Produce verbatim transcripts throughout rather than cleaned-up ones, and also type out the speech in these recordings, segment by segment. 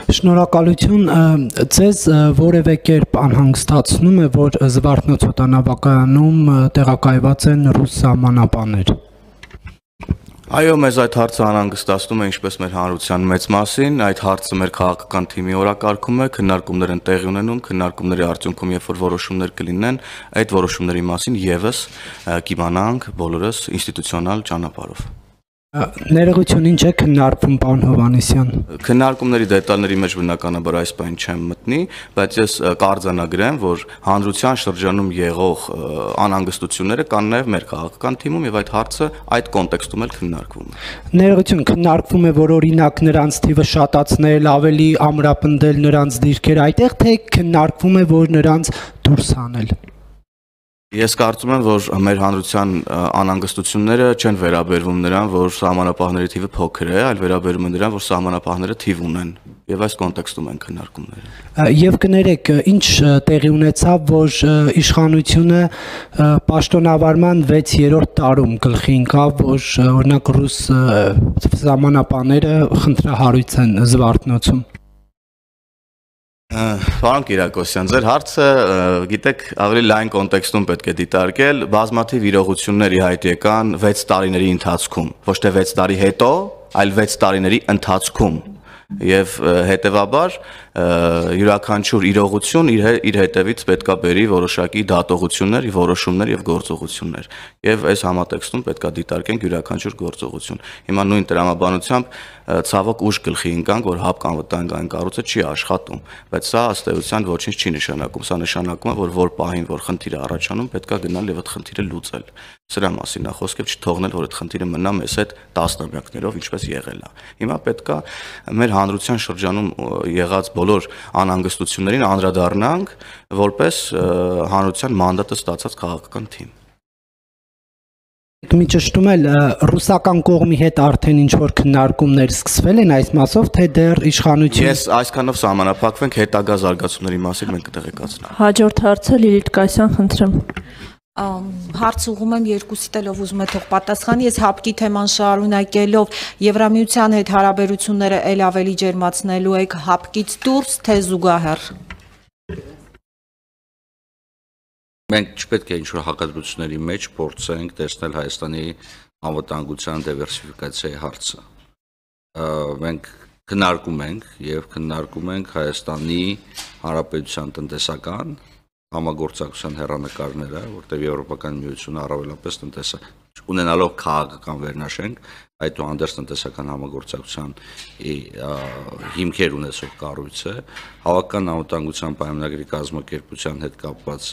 Շնորհակալություն, ձեզ որևէ կերպ անհանգստացնում է, որ Զվարթնոցօդանավակայանում տեղակայված են ռուս սահմանապահներ։ Այո, մեզ այդ հարցը անհանգստացնում է ինչպես մեր հանրության մեծ մասին, այդ հարցը մեր քաղաքական թիմի օրակարգում է, քննարկումներ են տեղի ունենում, քննարկումների արդյունքում երբ որ որոշումներ կլինեն, այդ որոշումների մասին եւս կիմանանք բոլորս ինստիտուցիոնալ ճանապարհով։ Ներողություն, ինչ է քննարկվում, պարոն Հովհաննիսյան։ Քննարկումների դետալների մեջ բնականաբար այս բան չեմ մտնի, բայց ես կարձանագրեմ, որ հանրության շրջանում եղող անհանգստությունները կան նաև մեր քաղաքական թիմում եւ այդ հարցը այդ կոնտեքստում էլ քննարկվում է։ Ներողություն, քննարկվում է, որ օրինակ նրանց թիվը շատացնել, ավելի ամրապնդել նրանց դիրքերը այդտեղ, թե քննարկվում է, որ նրանց դուրս հանել։ Ես կարծում եմ, որ մեր հանրության անհանգստությունները չեն վերաբերվում նրան, որ սահմանապահների թիվը փոքր է, այլ վերաբերում են նրան, որ սահմանապահները թիվ ունեն, եւ այս կոնտեքստում են քննարկումները։ Եվ կներեք, ինչ տեղի ունեցավ, որ իշխանությունը պաշտոնավարման վեցերորդ տարում գլխի ընկավ, որ օրինակ ռուս սահմանապահները խնդրահարույց են Զվարթնոցում։ Պարոն Կիրակոսյան, ձեր հարցը, գիտեք, ավելի լայն կոնտեքստում պետք է դիտարկել, բազմաթիվ իրողություններ ի հայտ եկան վեց տարիների ընթացքում, ոչ թե վեց տարի հետո, այլ վեց տարիների ընթացքում, եւ հետեւաբար յուրաքանչյուր իրողություն իր հետևից պետքա բերի որոշակի դատողություններ, որոշումներ եւ գործողություններ, եւ այս համատեքստում պետքա դիտարկենք յուրաքանչյուր գործողություն։ Հիմա նույն տրամաբանությամբ ցավոք ուժ գլխի ընկանք, որ հապկ անվտանգային կառույցը չի աշխատում, բայց սա ըստ էության ոչինչ չի նշանակում, սա նշանակում է, որ որ պահին, որ խնդիրը առաջանում, պետքա գնալ եւ այդ խնդիրը լուծել։ Սրա մասին է խոսքը, չթողնել, որ այդ խնդիրը մնա մեզ հետ տասնամյակներով, ինչպես եղել է։ Հիմա պետքա մեր հանրության շրջանում եղած բոլոր անհանգստություններին անդրադառնանք որպես հանրության մանդատը ստացած քաղաքական թիմ։ Մի ճշտում էլ ռուսական կողմի հետ արդեն ինչ որ քննարկումներ սկսվել են այս մասով, թե դեռ իշխանություն։ Ես այսքանով սահմանափակվենք հետագա զարգացումների մասին մենք կտեղեկացնենք։ Հաջորդ հարցը Լիլիթ Կասյան, խնդրեմ։ Հարց ուղում եմ երկուսիդ էլ ով ուզում է թող պատասխանի, ես հապկի թեման շարունակելով Եվրամիության հետ հարաբերությունները ել ավելի ջերմացնելու եք հապկից դուրս, թե զուգահեռ։ Մենք չպետք է ինչ-որ հակադրությունների մեջ փորձենք տեսնել Հայաստանի անվտանգության դիվերսիֆիկացիայի հարցը։ Մենք քննարկում ենք եւ քննարկում ենք Հայաստանի Հանրապետության տնտեսական համագործակցության հեռանկարները, որտեղ Եվրոպական միությունը առավելապես տնտեսական ունենալով քաղաքական վերնաշենք, այդուհանդերձ տնտեսական համագործակցության հիմքեր ունեցող կառույց է, հավաքական անվտանգության պայմանագրի կազմակերպության հետ կապված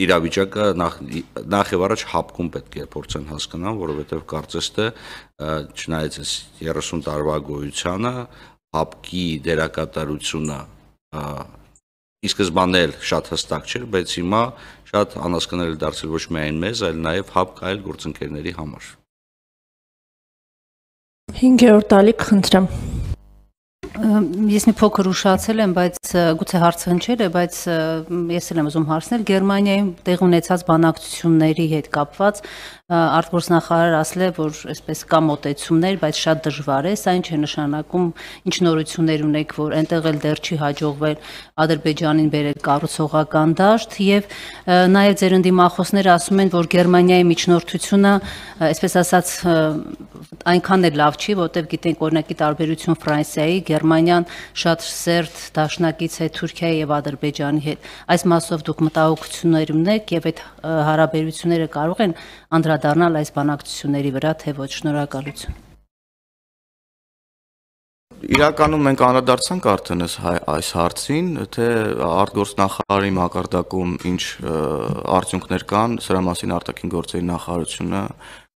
իրավիճակը նախ եւ առաջ հապկում պետք է փորձեն հասկանալ, որովհետեւ կարծես թե չնայած երեսուն տարվա գոյությանը հապկի դերակատարությունը ի սկզբանե շատ հստակ չէր, բայց հիմա շատ անհասկանալի դարձել ոչ միայն մեզ, այլ նաեւ հապկ այլ գործընկերների համար։ Հինգերորդ ալիք, խնդրեմ։ Ես մի փոքր ուշացել եմ, բայց գուցե հարցը հնչել է, բայց ես էլ եմ ուզում հարցնել Գերմանիայում տեղ ունեցած բանակցությունների հետ կապված արտգործնախարարը ասել է, որ այսպես կա մոտեցումներ, բայց շատ դժվար է, սա ինչ է նշանակում, ինչ նորություններ ունեք, որ այնտեղ էլ դեռ չի հաջողվել Ադրբեջանին բերել կառուցողական դաշտ եւ նաեւ ձեր ընդդիմախոսները ասում են, որ Գերմանիայի միջնորդությունը, այսպես ասած, այնքան էլ լավ չի, որտեղ գիտենք օրինակի տարբերություն Ֆրանսիայի, Գերմանիան շատ սերտ դաշնակից է Թուրքիայի եւ Ադրբեջանի հետ։ Այս մասով դուք մտահոգություններ ունեք եւ այդ հարաբերությունները կարող են անդրադառնալ այս բանակցությունների վրա, թե ոչ։ Շնորհակալություն։ Իրականում մենք անդրադարձանք արդեն այս հարցին, թե արտգործնախարարի մակարդակում ինչ արդյունքներ կան, սրա մասին արտաքին գործերի նախարարությունը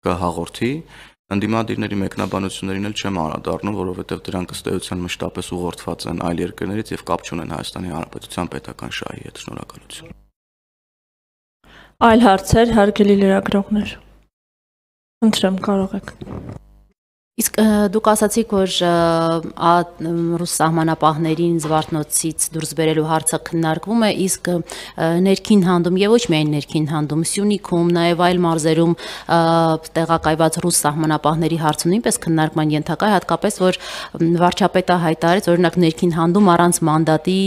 կհաղորդի։ Ընդդիմադիրների մեկնաբանություններին էլ չեմ անդրադառնում, որովհետև դրանք ըստ էության մշտապես ուղղորդված են այլ երկրներից եւ կապ չունեն Հայաստանի Հանրապետության պետական շահի հետ։ Շնորհակալություն։ Այլ հարցեր, հարգելի լրագրողներ։ Խնդրեմ, կարող եք։ Իսկ դուք ասացիք, որ ռուս սահմանապահներին Զվարթնոցից դուրս բերելու հարցը քննարկվում է, իսկ ներքին հանդում եւ ոչ միայն ներքին հանդում, Սյունիքում, նաեւ այլ մարզերում տեղակայված ռուս սահմանապահների հարցը նույնպես քննարկման ենթակա է, հատկապես որ վարչապետը հայտարարեց, օրինակ ներքին հանդում առանց մանդատի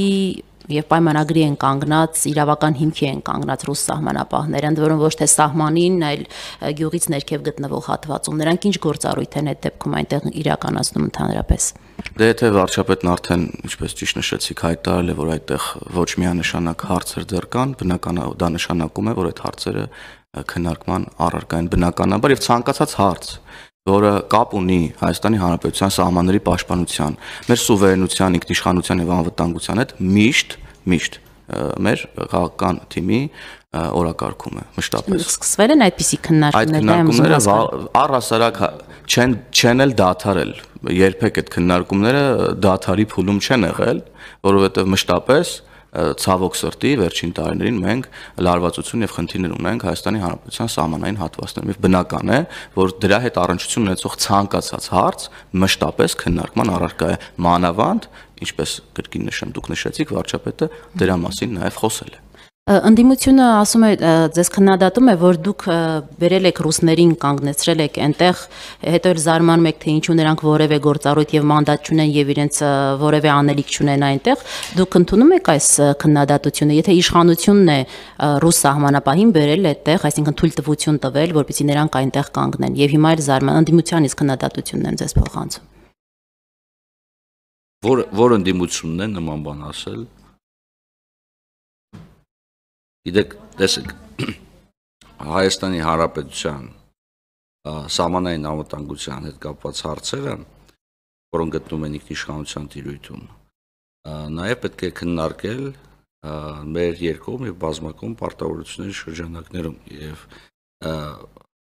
եւ պայմանագրի են կանգնած, իրավական հիմքի են կանգնած ռուս սահմանապահները, ընդ որում ոչ թե սահմանին, այլ գյուղից ներքև գտնվող հատվածում։ Նրանք ինչ գործառույթ են այդ դեպքում այնտեղ իրականացնում ընդհանրապես։ Դե եթե վարչապետն արդեն, ինչպես ճիշտ նշեցիք, հայտարարել է, որ այդտեղ ոչ միանշանակ հարցեր դեռ կան, բնական է, դա նշանակում է, որ այդ հարցերը քննարկման առարկա են բնականաբար եւ ցանկացած հարց, որը կապ ունի Հայաստանի Հանրապետության սահմանների պաշտպանության, մեր սուվերենության, ինքնիշխանության եւ անվտանգության հետ միշտ, միշտ մեր քաղաքական թիմի օրակարգում է մշտապես։ Սկսվել են այդպիսի քննարկումներ, այդ քննարկումները առհասարակ չեն չեն էլ դադարել, երբեք այդ քննարկումները դադարի փուլում չեն եղել, որովհետեւ մշտապես ցավոք սրտի վերջին տարիներին մենք լարվածություն եւ խնդիրներ ունենք Հայաստանի Հանրապետության սահմանային հատվածներում եւ բնական է, որ դրա հետ առնչություն ունեցող ցանկացած հարց մշտապես քննարկման առարկա է, մանավանդ, ինչպես կրկին նշեմ, դուք նշեցիք, վարչապետը դրա մասին նաեւ խոսել է։ Ընդդիմությունը ասում է, ձեզ քննադատում է, որ դուք բերել եք ռուսներին, կանգնեցրել եք այնտեղ, հետո էլ զարմանում եք, թե ինչու նրանք որևէ գործառույթ եւ մանդատ չունեն եւ իրենց որևէ անելիք չունեն այնտեղ, դուք ընդունում եք այս քննադատությունը, եթե իշխանությունն է ռուս սահմանապահին բերել այդտեղ, այսինքն թույլտվություն տվել, որպեսզի նրանք այնտեղ կանգնեն եւ հիմա էլ զարման ընդդիմությանից քննադատությունն են ձեզ փոխանցում։ Որ որ ընդդիմությունն է նման բան ասել։ Գիտեք, տեսեք, Հայաստանի Հանրապետության սահմանային անվտանգության հետ կապված հարցերը, որոնք գտնվում են ինքնիշխանության տիրույթում, նաև պետք է քննարկել մեր երկկողմ եւ բազմակողմ պարտավորությունների շրջանակներում եւ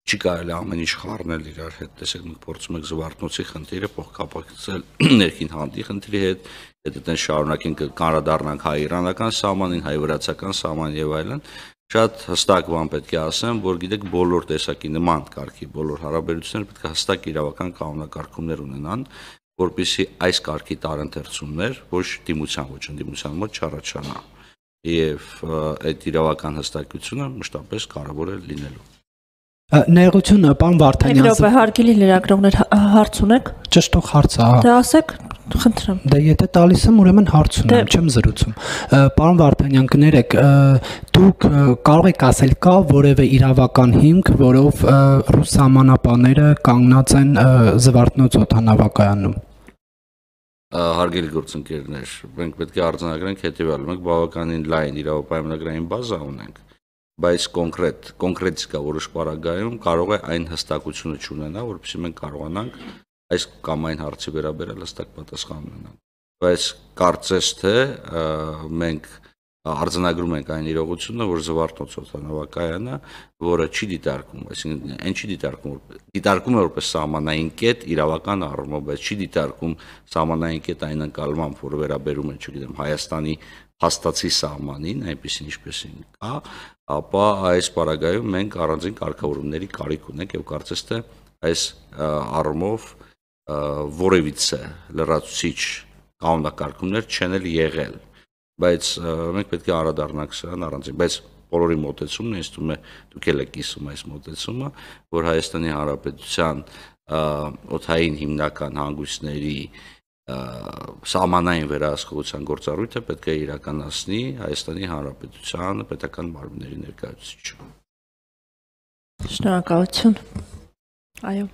չի կարելի ամեն ինչ խառնել իրար հետ, տեսեք, մենք փորձում ենք Զվարթնոցի խնդիրը փոխկապակցել ներքին հանդի խնդրի հետ, եթե դեն շարունակենք կանրադառնանք հայ-իրանական սահմանին, հայ-վրացական սահմանին եւ այլն, շատ հստակ բան պետք է ասեմ, որ գիտեք բոլոր տեսակի նման կարգի բոլոր հարաբերությունները պետք է հստակ իրավական կանոնակարգումներ ունենան, որպեսզի այս կարգի տարընթերցումներ ոչ դիմության, ոչ ընդդիմության մոտ չառաջանա։ Եվ այդ իրավական հստակությունը մշտապես կարևոր է լինելու։ Ներողություն, պարոն Վարդանյան։ Եվրոպա հարգելի լրագրողներ, հարց ունեք։ Ճշտող հարց է։ Դե ասեք, խնդրեմ։ Դե եթե տալիս եմ, ուրեմն հարց ունեմ, չեմ զրուցում։ Պարոն Վարդանյան, կներեք, դուք կարող եք ասել, կա որևէ իրավական հիմք, որով ռուս սահմանապահները կանգնած են Զվարթնոց օդանավակայանում։ Հարգելի գործընկերներ, մենք պետք է արձանագրենք հետևյալը, մենք բավականին լայն իրավապայմանագրային բազա ունենք, բայց կոնկրետ կոնկրետիկա որոշ պարագայում կարող է այն հստակությունը չունենա, որովհետեւ մենք կարողանանք այս կամ այն հարցի վերաբերյալ հստակ պատասխան ունենանք։ Բայց կարծես թե մենք արձանագրում ենք այն իրողությունը, որ Զվարթնոց օդանավակայանը, որը չի դիտարկում, այսինքն այն չի դիտարկում, դիտարկում է որպես սահմանային կետ իրավական առումով, բայց չի դիտարկում սահմանային կետ այն ընկալմամբ, որը վերաբերում է, չգիտեմ, Հայաստանի հաստացի սահմանին, այնպեսին ինչպեսին կա, ապա այս պարագայում մենք առանձին կարգավորումների կարիք ունենք եւ կարծես թե այս առումով որևիցե լրացուցիչ կանոնակարգումներ չեն էլ եղել, բայց մենք պետք է անդրադառնանք սրան առանձին, բայց բոլորի մոտեցումն ինձ թվում է դուք եք կիսում այս մոտեցումը, որ Հայաստանի Հանրապետության օդային հիմնական հանգույցների սահմանային վերահսկողության գործառույթը պետք է իրականացնի Հայաստանի Հանրապետության պետական մարմինների ներկայացուցիչը։ Շնորհակալություն։ Այո։